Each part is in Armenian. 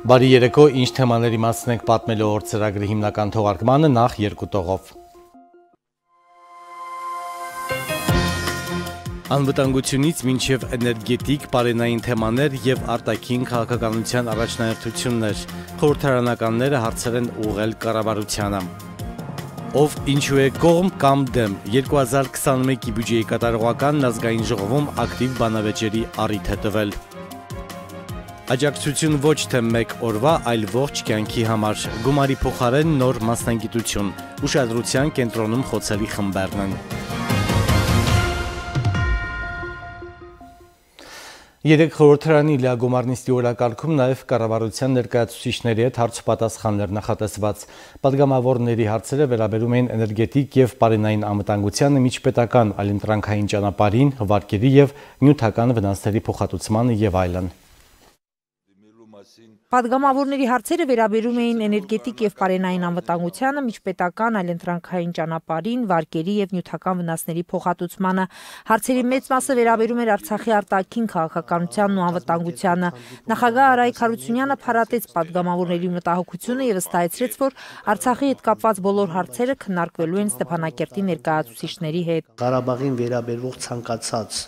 Բարի երեկո, ինչ թեմաների մասին ենք պատմելու օր ծրագրի հիմնական թողարկմանը նախ երկու տողով։ Անվտանգությունից մինչև էներգետիկ, պարենային թեմաներ և արտաքին քաղաքականության առաջնահերթություններ, խորհրդարանականները հարցեր են ուղղել կառավարությանը։ Ով ինչու է կողմ կամ դեմ, 2021-ի բյուջեի կատարողականն ազգային ժողովում ակտիվ բանավեճերի առիթ է տվել։ Աջակցություն ոչ թե մեկ օրվա, այլ ողջ կյանքի համար, գումարի փոխարեն նոր մասնագիտություն, ուշադրության կենտրոնում խոցելի խմբերն են։ Երեկ խորհրդարանի լիագումար նիստի օրակարգում նաև կառավարության ներկայացուցիչների հետ հարցուպատասխաններ նախատեսված։ Պատգամավորների հարցերը վերաբերում էին էներգետիկ և պարենային անվտանգությանը, միջպետական այլընտրանքային ճանապարհին, վարկերի և նյութական վնասների փոխհատուցմանը և այլն։ Պատգամավորների հարցերը վերաբերում էին էներգետիկ և պարենային անվտանգությանը, միջպետական այլընտրանքային ճանապարհին, վարկերի և նյութական վնասների փոխհատուցմանը։ Հարցերի մեծ մասը վերաբերում էր Արցախի արտաքին քաղաքականությանն ու անվտանգությանը։ Նախագահ Արայիկ Հարությունյանը փառատեց պատգամավորների մտահոգությունը և վստահեցրեց, որ Արցախի հետ կապված բոլոր հարցերը քննարկվելու են Ստեփանակերտի ներկայացուցիչների հետ։ Ղարաբաղին վերաբերող ցանկացած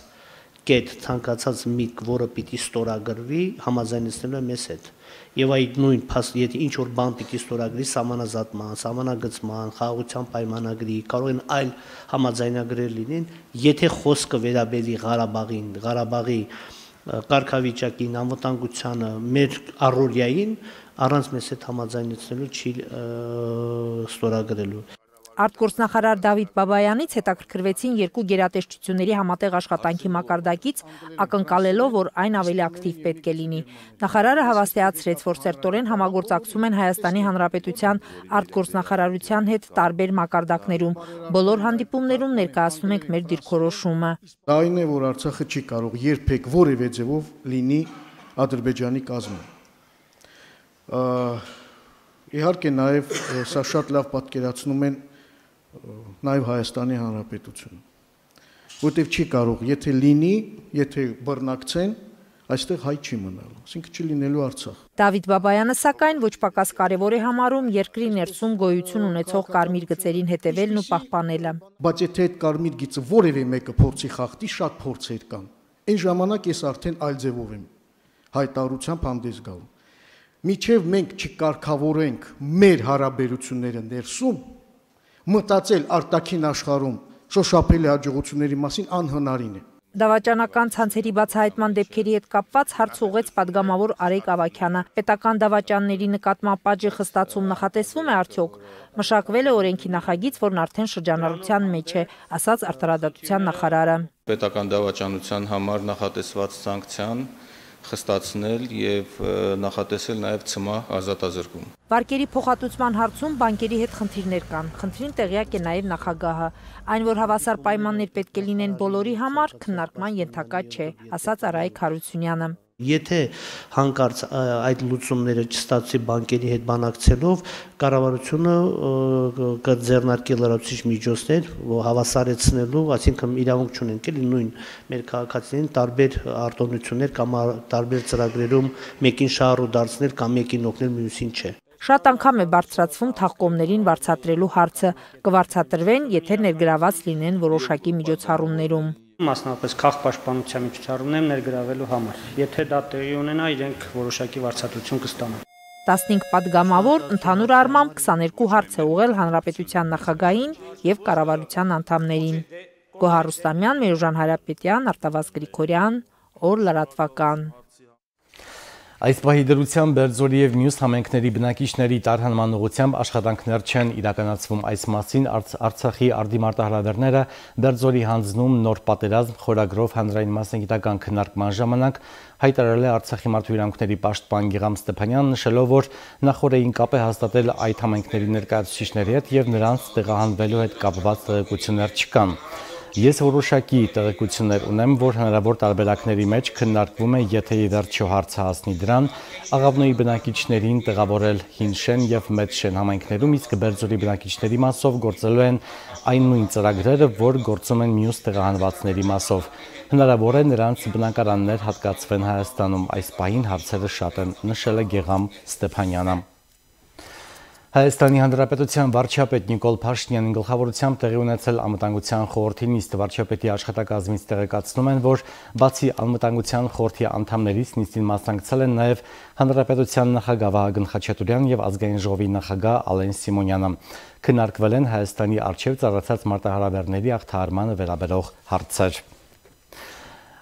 կետ, ցանկացած միտք, որը պիտի ստորագրվի, համաձայնեցնելու է մեզ հետ։ Եվ այդ նույն եթե ինչ որ բան պիտի ստորագրի սահմանազատման, սահմանագծման, խաղաղության պայմանագրի, կարող են այլ համաձայնագրեր լինեն, եթե խոսքը վերաբերի Ղարաբաղին, Ղարաբաղի կարգավիճակին, անվտանգությանը, մեր առօրյային, առանց մեզ հետ համաձայնեցնելու չի ստորագրելու։ Արտգործնախարար Դավիթ Բաբայանից հետաքրքրվեցին երկու գերատեսչությունների համատեղ աշխատանքի մակարդակից, ակնկալելով, որ այն ավելի ակտիվ պետք է լինի։ Նախարարը հավաստիացրեց, որ սերտորեն համագործակցում են Հայաստանի Հանրապետության արտգործնախարարության հետ տարբեր մակարդակներում։ Բոլոր հանդիպումներում ներկայացնում ենք մեր դիրքորոշումը։ Այն է, որ Արցախը չի կարող երբեք որևէ ձևով լինի Ադրբեջանի կազմում։ Իհարկե նաև սա շատ լավ պատկերացնում են նաև Հայաստանի Հանրապետությունը, որտեղ չի կարող, եթե լինի, եթե բռնակցեն, այստեղ հայ չի մնալու, այսինքն չի լինելու Արցախ։ Դավիթ Բաբայանը սակայն ոչ պակաս կարևոր է համարում երկրի ներսում գոյություն ունեցող կարմիր գծերին հետևելն ու պահպանելը։ Բայց եթե այդ կարմիր գիծը որևէ մեկը փորձի խախտի, շատ փորձեր կան։ Այն ժամանակ ես արդեն այլ ձևով եմ հայտարարությամբ հանդես գալու։ Միջև մենք չկարգավորենք մեր հարաբերությունները ներսում, մտածել արտաքին աշխարհում շոշափելի հաջողությունների մասին անհնարին է։ Դավաճանական ցանցերի բացահայտման դեպքերի հետ կապված հարց ուղղեց պատգամավոր Արայիկ Ավագյանը։ Պետական դավաճանների նկատմամբ պատժի խստացում նախատեսվում է արդյոք։ Մշակվել է օրենքի նախագիծ, որն արդեն շրջանառության մեջ է, ասաց արտարադատության նախարարը։ Պետական դավաճանության համար նախատեսված սանկցիան խստացնել եւ նախատեսել նաեւ ՑՄԱ ազատազրկում։ Վարկերի փոխհատուցման հարցում բանկերի հետ խնդիրներ կան։ Խնդրին տեղյակ է նաեւ նախագահը։ Այն, որ հավասար պայմաններ պետք է լինեն բոլորի համար, քննարկման ենթակա չէ, ասաց Արայիկ Հարությունյանը։ Եթե հանկարծ այդ լուծումները չստացվի բանկերի հետ բանակցելով, կառավարությունը կձեռնարկի լրացուցիչ միջոցներ հավասարեցնելու, այսինքն իրավունք չունենք էլի նույն մեր քաղաքացիներին տարբեր արտոնություններ կամ տարբեր ծրագրերում մեկին շահառու դարձնել կամ մեկին օգնել, մյուսին չէ։ Շատ անգամ է բարձրացվում թաղկոմներին վարձատրելու հարցը, կվարձատրվեն, եթե ներգրաված լինեն որոշակի միջոցառումներում։ Մասնավորապես քաղաքապաշտպանության միջոցառումներ ներգրավելու համար։ Եթե դա տեղի ունենա, իրենք որոշակի վարձատրություն կստանան։ 15 պատգամավոր ընդհանուր առմամբ 22 հարց է ուղղել հանրապետության նախագահին եւ կառավարության անդամներին։ Գոհար Ռուստամյան, Մերուժան Հարապետյան, Արտավազդ Գրիգորյան, օր լրատվական։ Այս պահի դրությամբ Բերձորի և մյուս համայնքների բնակիչների տարհանման ուղղությամբ աշխատանքներ չեն իրականացվում։ Այս մասին Արցախի արտիմարտահրավերները Բերձորի հանձնում նոր պատերազմ խորագրով հանրային մասնագիտական քննարկման ժամանակ հայտարարել է Արցախի մարդու իրավունքների պաշտպան Գիղամ Ստեփանյանը, նշելով, որ նախորդային կապ է հաստատել այդ համայնքների ներկայացուցիչների հետ և նրանց տեղահանվելու հետ կապված տեղեկություններ չկան։ Ես որոշակի տեղեկություններ ունեմ, որ հնարավոր տարբերակների մեջ քննարկվում է, եթե ի վերջո հարցը հասնի դրան, Աղավնոյի բնակիչներին տեղավորել Հին Շեն եւ Մեծ Շեն համայնքներում, իսկ Բերձորի բնակիչների մասով գործելու են այն նույն ծրագրերը, որ գործում են մյուս տեղահանվածների մասով։ Հնարավոր է նրանց բնակարաններ հատկացվեն Հայաստանում, այս պահին հարցերը շատ են, նշել է Գեգամ Ստեփանյանը։ Հայաստանի Հանրապետության վարչապետ Նիկոլ Փաշինյանի գլխավորությամբ տեղի ունեցել անվտանգության խորհրդի նիստ վարչապետի աշխատակազմից տեղեկացնում են, որ բացի անվտանգության խորհրդի անդամներից նիստին մասնակցել են նաև Հանրապետության նախագահ Վահագն Խաչատուրյան եւ Ազգային ժողովի նախագահ Ալեն Սիմոնյանը։ Քննարկվել են Հայաստանի առջև ծառացած մարտահրավերների ախտահարմանը վերաբերող հարցեր։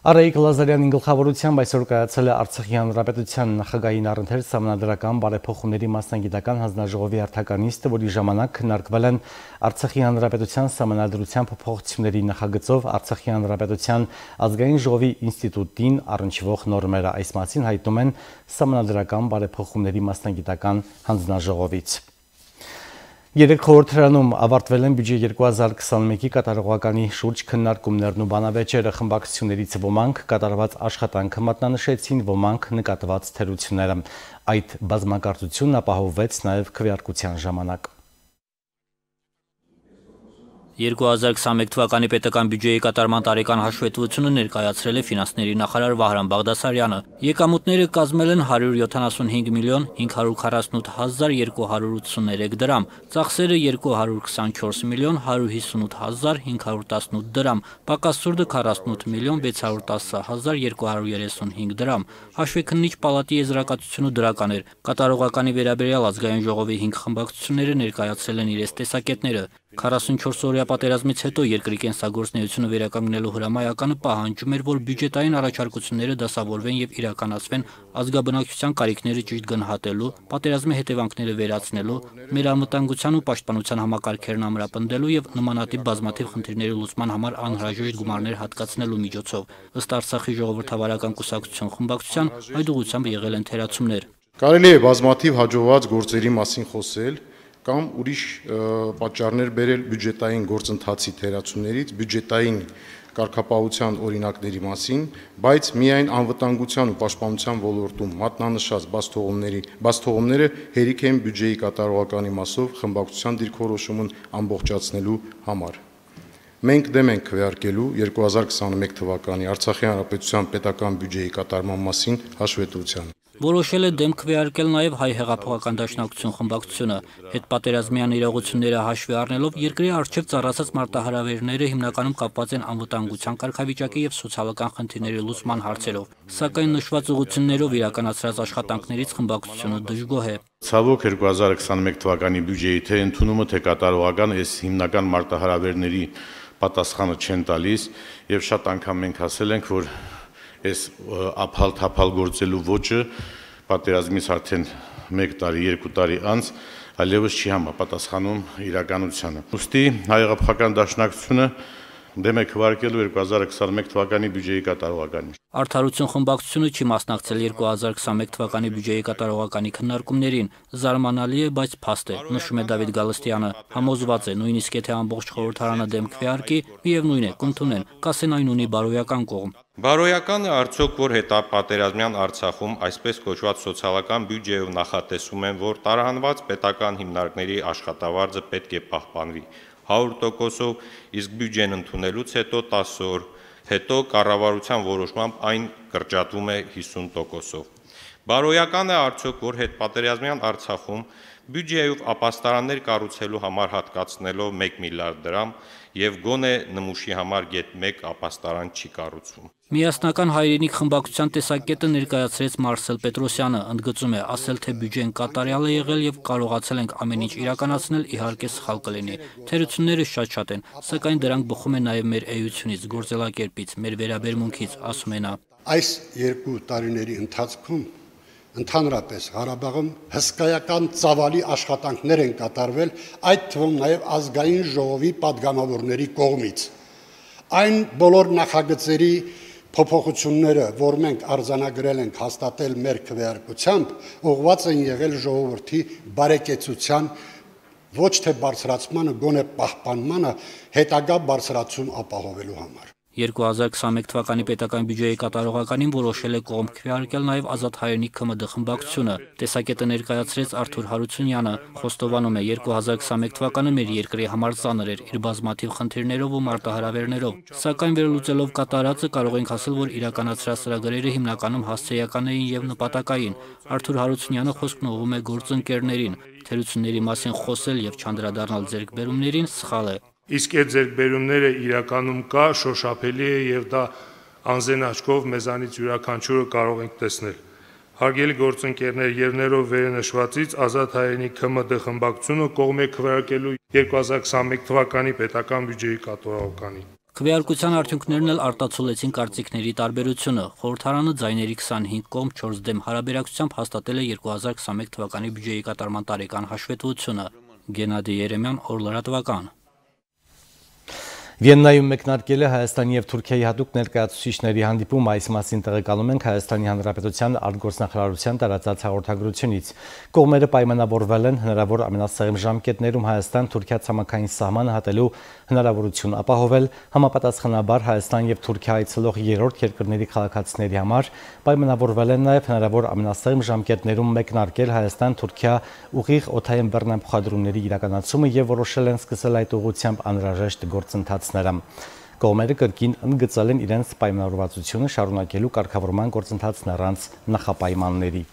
Արայիկ Լազարյանի գլխավորությամբ այսօր կայացել է Արցախի Հանրապետության նախագահին առընթեր սահմանադրական բարեփոխումների մասնագիտական հանձնաժողովի հերթական նիստը, որի ժամանակ քննարկվել են Արցախի Հանրապետության սահմանադրության փոփոխությունների նախագծով Արցախի Հանրապետության ազգային ժողովի ինստիտուտին առնչվող նորմերը, այս մասին հայտնում են սահմանադրական բարեփոխումների մասնագիտական հանձնաժողովից։ Երեք խորհրդարանում ավարտվել են բյուջե 2021-ի կատարողականի շուրջ քննարկումներն ու բանավեճերը, խմբակցություններից ոմանք կատարված աշխատանքը մատնանշեցին, ոմանք նկատված թերությունները։ Այդ բազմակարծությունն ապահովվեց նաև քվեարկության ժամանակ։ 2021 թվականի պետական բյուջեի կատարման տարեկան հաշվետվությունը ներկայացրել է ֆինանսների նախարար Վահրամ Բաղդասարյանը։ Եկամուտները կազմել են 175 միլիոն 548 հազար 283 դրամ, ծախսերը 224 միլիոն 158 հազար 518 դրամ, պակասուրդը 48 միլիոն 610 հազար 235 դրամ։ Հաշվեկննիչ պալատի եզրակացությունը դրական էր։ Կատարողականի վերաբերյալ ազգային ժողովի 5 խմբակցությունները ներկայացրել են իրենց տեսակետները։ 44-օրյա պատերազմից հետո երկրի կենսագործունեությունը վերականգնելու հրամայականը պահանջում էր, որ բյուջետային առաջարկությունները դասավորվեն եւ իրականացվեն ազգաբնակչության կարիքները ճիշտ գնահատելու, պատերազմի հետևանքները վերացնելու, մեր անվտանգության ու պաշտպանության համակարգերն ամրապնդելու եւ նմանատիպ բազմաթիվ խնդիրների լուծման համար անհրաժեշտ գումարներ հատկացնելու միջոցով։ Ըստ Արցախի ժողովրդավարական կուսակցության խմբակցության այդ ուղղությամբ եղել են թերացումներ։ Կարելի է բազմաթիվ հաջողված գործերի մասին խոսել կամ ուրիշ պատճառներ բերել բյուջետային գործընթացի թերացումներից, բյուջետային կարգապահության օրինակների մասին, բայց միայն անվտանգության ու պաշտպանության ոլորտում մատնանշած բացթողումները հերիք են բյուջեի կատարողականի մասով խմբակցության դիրքորոշումն ամբողջացնելու համար։ Մենք դեմ ենք քվեարկելու 2021 թվականի Արցախի Հանրապետության պետական բյուջեի կատարման մասին հաշվետվությանը։ Որոշել է դեմ քվեարկել նաև Հայ հեղափոխական դաշնակցություն խմբակցությունը։ Հետպատերազմյան իրողությունները հաշվի առնելով երկրի առջև ծառացած մարտահրավերները հիմնականում կապված են անվտանգության կարգավիճակի եւ սոցիալական խնդիրների լուծման հարցերով։ Սակայն նշված ուղղություններով իրականացրած աշխատանքներից խմբակցությունը դժգոհ է։ Ցավոք 2021 թվականի բյուջեի թե ընդունումը, թե կատարողական այս հիմնական մարտահրավերների պատասխանը չեն տալիս եւ շատ անգամ մենք ասել ենք, որ այս ափալ-թափալ գործելու ոճը պատերազմից արդեն 1 տարի, 2 տարի անց այլևս չի համապատասխանում իրականությանը։ Ուստի Հայ հեղափոխական դաշնակցությունը դեմ է քվեարկելու 2021 թվականի բյուջեի կատարողականին։ Արդարություն խմբակցությունը չի մասնակցել 2021 թվականի բյուջեի կատարողականի քննարկումներին։ Զարմանալի է, բայց փաստ է, նշում է Դավիթ Գալստյանը։ Համոզված է, նույնիսկ եթե ամբողջ խորհրդարանը դեմ քվեարկի, միևնույն է, կընդունեն, կասեն այն ունի բարոյական կողմ։ Բարոյական է արդյոք, որ հետապատերազմյան Արցախում այսպես կոչված սոցիալական բյուջեով նախատեսում են, որ տարանված պետական հիմնարկների աշխատավարձը պետք է պահպանվի 100%-ով, իսկ բյուջեն ընդունելուց հետո 10 օր հետո կառավարության որոշմամբ այն կրճատվում է 50%-ով։ Բարոյական է արդյոք, որ հետպատերազմյան Արցախում բյուջեով ապաստարաններ կառուցելու համար հատկացնելով 1 միլիարդ դրամ եւ գոնե նմուշի համար գեթ 1 ապաստարան չի կառուցվում։ Միասնական հայրենիք խմբակցության տեսակետը ներկայացրեց Մարսել Պետրոսյանը, ընդգծում է, ասել թե բյուջեն կատարյալ է եղել եւ կարողացել ենք ամեն ինչ իրականացնել, իհարկե սխալ կլինի։ Թերությունները շատ են, սակայն դրանք բխում են նաեւ մեր էությունից, գործելակերպից, մեր վերաբերմունքից, ասում է նա։ Այս 2 տարիների ընթացքում ընդհանրապես Ղարաբաղում հսկայական ծավալի աշխատանքներ են կատարվել, այդ թվում նաև ազգային ժողովի падգամավորների կողմից։ Այն բոլոր նախագծերի փոփոխությունները, որ մենք արձանագրել ենք հաստատել մեր քվեարկությամբ, ուղղված են եղել ժողովրդի բարեկեցության ոչ թե բարձրացմանը, գոնե պահպանմանը հետագա բարձրացում ապահովելու համար։ 2021 թվականի պետական բյուջեի կատարողականին որոշել է կողմ քվեարկել նաև Ազատ հայերենի ՔՄԴ խմբակցությունը։ Տեսակետը ներկայացրեց Արթուր Հարությունյանը, խոստովանում է 2021 թվականը մեր երկրի համար ծանր էր իր բազմաթիվ խնդիրներով ու մարտահրավերներով, սակայն վերլուծելով կատարածը կարող ենք ասել, որ իրականացրած ծրագրերը հիմնականում հասցեական էին եւ նպատակային։ Արթուր Հարությունյանը խոսքն ուղղում է գործընկերներին, թերությունների մասին խոսել եւ չանդրադառնալ ձեռքբերումներին սխալ է։ Իսկ այդ ձեռքբերումները իրականում կա, շոշափելի է եւ դա անզեն աչքով մեզանից յուրաքանչյուրը կարող ենք տեսնել։ Հարգելի գործընկերներ, եւ ներով վերնշվածից Ազատ հայերենի ՔՄԴ խմբակցությունը կողմ է քվեարկելու 2021 թվականի պետական բյուջեի կատարողականին։ Քվեարկության արդյունքներն էլ արտացոլեցին կարծիքների տարբերությունը։ Խորհրդարանը ձայների 25 կողմ 4 դեմ հարաբերակցությամբ հաստատել է 2021 թվականի բյուջեի կատարման տարեկան հաշվետվությունը։ Գենադի Երեմյան, Օրլրատվական։ Վիեննայում մեկնարկել է Հայաստանի եւ Թուրքիայի հատուկ ներկայացուցիչների հանդիպում, այս մասին տեղեկանում ենք Հայաստանի Հանրապետության արտգործնախարարության տարածած հաղորդագրությունից։ Կողմերը պայմանավորվել են հնարավոր ամենասեղմ ժամկետներում Հայաստան-Թուրքիա ցամաքային սահմանը հատելու հնարավորություն ապահովել, համապատասխանաբար Հայաստան եւ Թուրքիա այցելող երրորդ երկրների քաղաքացիների համար պայմանավորվել են նաեւ հնարավոր ամենասեղմ ժամկետներում մեկնարկել Հայաստան-Թուրքիա ուղիղ օդային բեռնափոխադրումների իրականացումը եւ որոշել են սկսել այդ ուղղությամբ անհրաժեշտ գործընթացները։ Կողմերը կրկին ընդգծել են իրենց պայմանավորվածությունը շարունակելու կարգավորման գործընթացն առանց նախապայմանների։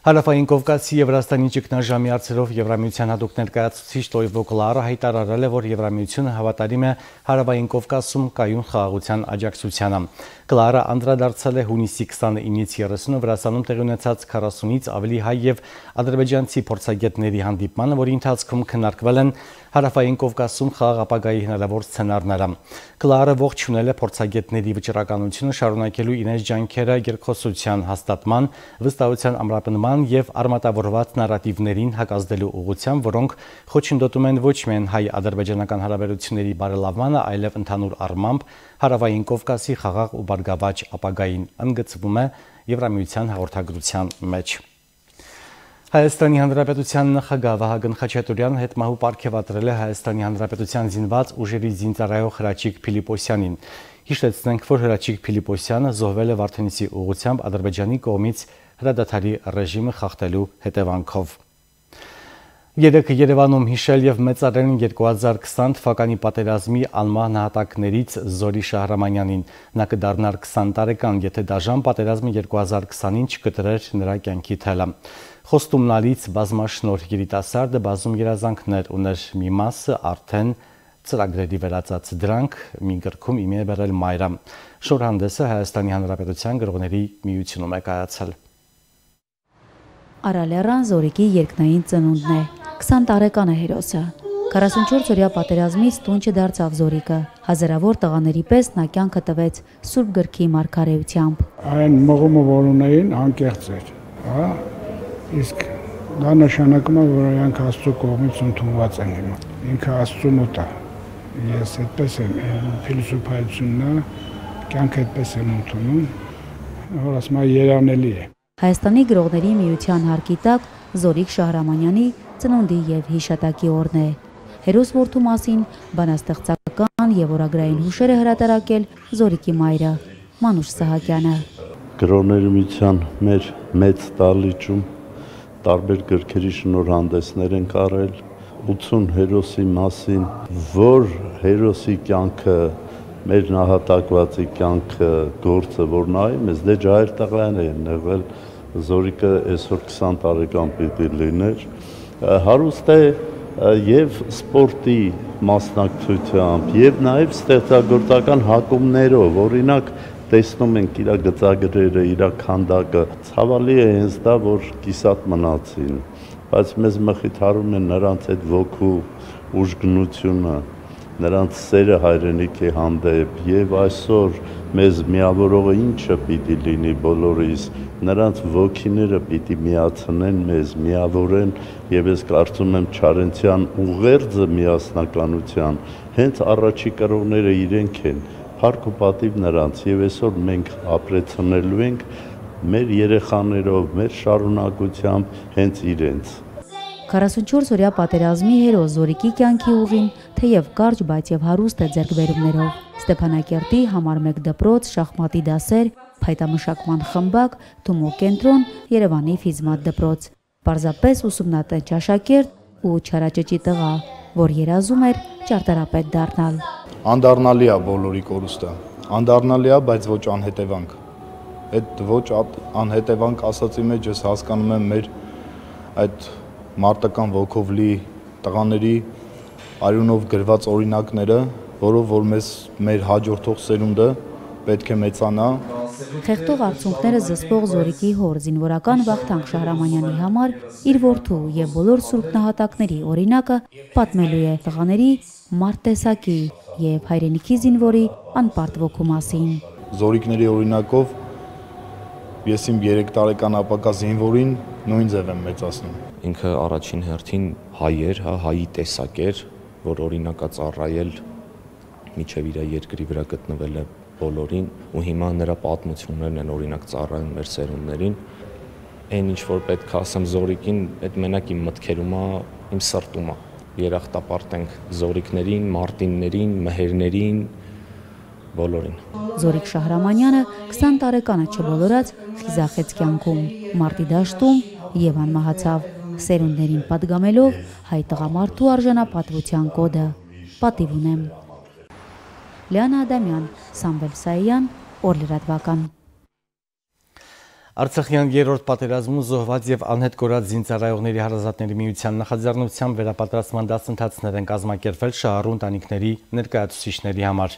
Հարավային Կովկասի եւ Վրաստանի ճգնաժամի հարցերով Եվրամիության հատուկ ներկայացուցիչ Տոյվո Կլարը հայտարարել է, որ Եվրամիությունը հավատարիմ է Հարավային Կովկասում կայուն խաղաղության աջակցությանը։ Կլարը անդրադարձել է հունիսի 29-ից 30-ը Վրաստանում տեղի ունեցած 40-ից ավելի հայ եւ ադրբեջանցի փորձագետների հանդիպմանը, որի ընթացքում քննարկվել են Հարավային Կովկասում խաղաղ ապագայի հնարավոր սցենարները։ Կլարը ողջունել է փորձագետների վճռականությունը շարունակելու իրենց ջանքերը երկխոսության հաստատման, վստահության ամրապնման եւ արմատավորված նարատիվներին հակազդելու ուղղությամբ, որոնք խոչընդոտում են ոչ միայն հայ-ադրբեջանական հարաբերությունների բարելավմանը, այլև ընդհանուր առմամբ Հարավային Կովկասի խաղաղ ու բարգավաճ ապագային, ընդգծվում է Եվրամիության հաղորդագրության մեջ։ Հայաստանի Հանրապետության նախագահ Վահագն Խաչատուրյանը հետմահու պարգևատրել է Հայաստանի Հանրապետության զինված ուժերի զինծառայող Հրաչիկ Փիլիպոսյանին։ Հիշեցնենք, որ Հրաչիկ Փիլիպոսյանը զոհվել է Վարդենիսի ուղղությամբ Ադրբեջանի կողմից հրադադարի ռեժիմը խախտելու հետևանքով։ Երեքը Երևանում հիշել եւ մեծարել 2020 թվականի պատերազմի անմահ նահատակներից Զորի Շահրամանյանին։ Նա կդառնար 20 տարեկան, եթե դաժան պատերազմը 2020-ին չկտրեր նրա կյանքի թելը։ Խոստումնալից բազմաշնորհ երիտասարդը բազում երազանքներ ուներ, մի մասը արդեն ծրագրերի վերածած դրանք մի գրքում իմի է բերել մայրը։ Շորհանդեսը Հայաստանի Հանրապետության գրողների միությունում է կայացել։ Արալերան Զորիկի երկնային ծնունդն է, 20 տարեկան է հերոսը։ 44-օրյա պատերազմից տուն չդարձավ Զորիկը, հազարավոր տղաների պես նա կյանքը տվեց Սուրբ գրքի մարգարեությամբ։ Այն մղումը, որ ունեին, անկեղծ էր, հա, իսկ դա նշանակում է, որ իրանք Աստծո կողմից ընդունված են հիմա։ Ինքը Աստծո մոտ է։ Ես այդպես եմ, փիլիսոփայությունն է, կյանքը այդպես եմ ընդունում, որ ասում եմ երանելի է։ Հայաստանի գրողների միության հարկի տակ Զորիկ Շահրամանյանի ծնունդի եւ հիշատակի օրն է։ Հերոս որդու մասին բանաստեղծական եւ օրագրային հուշեր է հրատարակել Զորիկի մայրը Մանուշ Սահակյանը։ Գրողների միության մեր մեծ դահլիճում տարբեր գրքերի շնորհանդեսներ են կարել 80 հերոսի մասին, որ հերոսի կյանքը մեր նահատակվածի կյանքը գործը որ նայի մեզ դե ջահել տղաներ են եղել Զորիկը այսօր 20 տարեկան պիտի լիներ հարուստ է եւ սպորտի մասնակցությամբ եւ նաեւ ստեղծագործական հակումներով օրինակ տեսնում ենք իր գծագրերը իր քանդակը ցավալի է հենց դա որ կիսատ մնացին բայց մեզ մխիթարում են նրանց այդ ոգու ուժգնությունը նրանց սերը հայրենիքի հանդեպ եւ այսօր մեզ միավորողը ինչը պիտի լինի բոլորիս նրանց ոգիները պիտի միացնեն մեզ միավորեն եւ ես կարծում եմ Չարենցյան ուղերձը միասնականության հենց առաջի կրողները իրենք են փառք ու պատիվ նրանց եւ այսօր մենք ապրեցնելու ենք մեր երեխաներով մեր շարունակությամբ հենց իրենց 44-օրյա պատերազմի հերոս Զորիկի կյանքի ուղին թեև կարճ, բայց եւ հարուստ է ձեռքբերումներով։ Ստեփանակերտի համար 1 դպրոց, շախմատի դասեր, փայտամշակման խմբակ, Թումո կենտրոն, Երևանի ֆիզմատ դպրոց։ Պարզապես ուսումնատենչ աշակերտ ու չարաճճի տղա, որ երազում էր ճարտարապետ դառնալ։ Անդառնալի է բոլորի կորուստը։ Անդառնալի է, բայց ոչ անհետևանք։ Այդ ոչ անհետևանք ասացի մեջ ես հասկանում եմ մեր այդ մարտական ոգով լի տղաների արյունով գրված օրինակները, որով որ մեր հաջորդող սերունդը պետք է մեծանա։ Խեղդող արդյունքները զսպող Զորիկի հոր զինվորական Վախթանգ Շահրամանյանի համար իր որդու եւ բոլոր սուրբ նահատակների օրինակը պատմելու է տղաների մարտտեսակի եւ հայրենիքի զինվորի անպարտ ոգու մասին։ Զորիկների օրինակով ես իմ 3 տարեկան ապակա զինվորին նույն ձև եմ մեծացնում։ Ինքը առաջին հերթին հայ էր, հայի տեսակ էր, որ օրինակ է ծառայել միջև իր երկրի վրա գտնվել է բոլորին ու հիմա նրա պատմություններն են օրինակ ծառայում մեր սերունդներին։ Այն ինչ որ պետք է ասեմ Զորիկին, այդ մենակ իմ մտքերում է, իմ սրտում է։ Երախտապարտ ենք Զորիկներին, Մարտիններին, Մհերներին, բոլորին։ Զորիկ Շահրամանյանը 20 տարեկանը չբոլորած խիզախեց կյանքում, մարտի դաշտում եւ անմահացավ, սերունդներին պատգամելով հայ տղամարդու արժանապատվության կոդը։ Պատիվ ունեմ։ Լիանա Ադամյան, Սամվել Սայյան, Օրլրատվական։ Արցախյան երրորդ պատերազմում զոհված եւ անհետ կորած զինծառայողների հարազատների միության նախաձեռնությամբ վերապատրաստման դասընթացներ են կազմակերպվել շահառու ընտանիքների ներկայացուցիչների համար։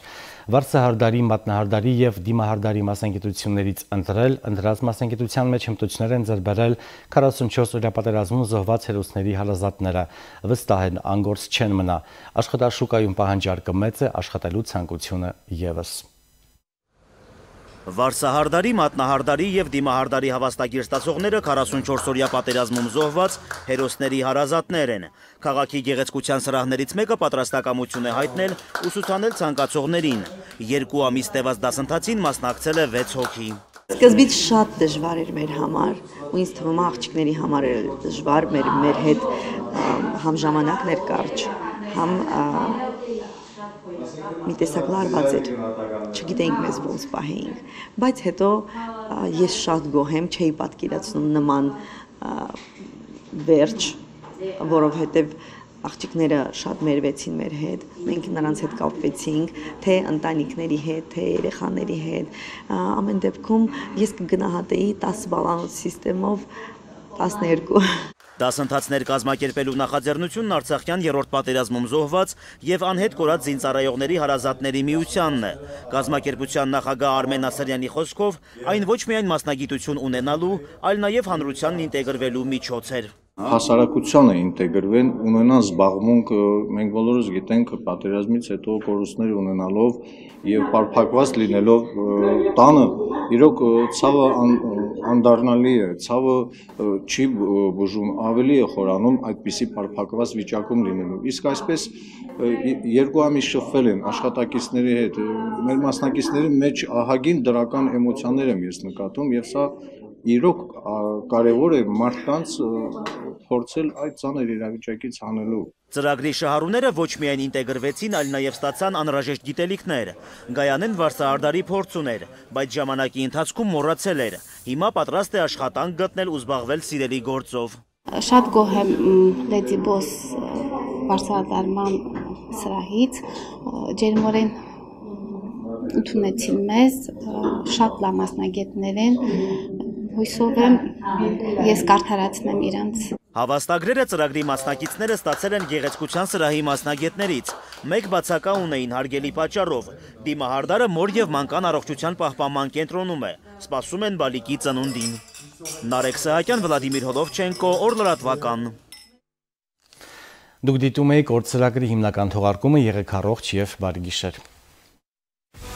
Վարսահարդարի, մատնահարդարի եւ դիմահարդարի մասնագիտություններից ընտրած մասնագիտության մեջ հմտություններ են ձեռբերել 44 օրյա պատերազմում զոհված հերոսների հարազատները։ Վստահ են անգործ չեն մնա։ Աշխատաշուկայում պահանջարկը մեծ է, աշխատելու ցանկությունը եւս։ Վարսահարդարի, մատնահարդարի եւ դիմահարդարի հավաստագիր ստացողները 44 օրյա պատերազմում զոհված հերոսների հարազատներ են։ Քաղաքի գեղեցկության սրահներից մեկը պատրաստակամություն է հայտնել ուսուցանել ցանկացողներին։ 2 ամիս տևած դասընթացին մասնակցել է 6 հոգի։ Սկզբից շատ դժվար էր մեր համար, ու ինձ թվում է աղջիկների համար էր դժվար, մեր հետ համ ժամանակն էր կարճ, համ մի տեսակ լարված էր, չգիտեինք մեզ ոնց պահեինք, բայց հետո ես շատ գոհ եմ, չէի պատկերացնում նման վերջ, որովհետև աղջիկները շատ մերվեցին մեր հետ, մենք նրանց հետ կապվեցինք, թե ընտանիքների հետ, թե երեխաների հետ, ամեն դեպքում ես կգնահատեի 10 բալանոց սիստեմով 12։ Դասընթացներ կազմակերպելու նախաձեռնությունն Արցախյան երրորդ պատերազմում զոհված եւ անհետ կորած զինծառայողների հարազատների միությանն է։ Կազմակերպության նախագահ Արմեն Ասարյանի խոսքով այն ոչ միայն մասնագիտություն ունենալու, այլ նաեւ հանրությանն ինտեգրվելու միջոց էր։ Հասարակությանը ինտեգրվեն, ունենան զբաղմունք, մենք բոլորս գիտենք պատերազմից հետո կորուստներ ունենալով եւ պարփակված լինելով տանը, իրոք ցավը անդառնալի է, ցավը չի բուժում, ավելի է խորանում այդպիսի պարփակված վիճակում լինելու։ Իսկ այսպես 2 ամիս շփվել են աշխատակիցների հետ, մեր մասնակիցների մեջ ահագին դրական էմոցիաներ եմ ես նկատում եւ սա իրոք կարևոր է մարդկանց փորձել այդ ծանր իրավիճակից հանելու։ Ծրագրի շահառուները ոչ միայն ինտեգրվեցին, այլ նաև ստացան անհրաժեշտ գիտելիքներ։ Գայանեն Վարսահարդարի փորձ ուներ, բայց ժամանակի ընթացքում մոռացել էր։ Հիմա պատրաստ է աշխատանք գտնել ու զբաղվել սիրելի գործով։ Շատ գոհ եմ Լեդի Բոս Վարսահարդարման սրահից, ջերմորեն ընդունեցին մեզ, շատ լավ մասնագետներ են, հույսով եմ ես կարդարացնեմ իրանց։ Հավաստագրերը ծրագրի մասնակիցները ստացել են գեղեցկության սրահի մասնագետներից։ Մեկ բացակա ունեին հարգելի պատճառով։ Դիմահարդարը մոր եւ մանկան առողջության պահպանման կենտրոնում է։ Սպասում են բալիկի ծնունդին։ Նարեկ Սահակյան, Վլադիմիր Հոլովչենկո, Օրլրատվական։ Դուք դիտում եք օր ծրագրի հիմնական թողարկումը, եղեք առողջ եւ բարի գիշեր։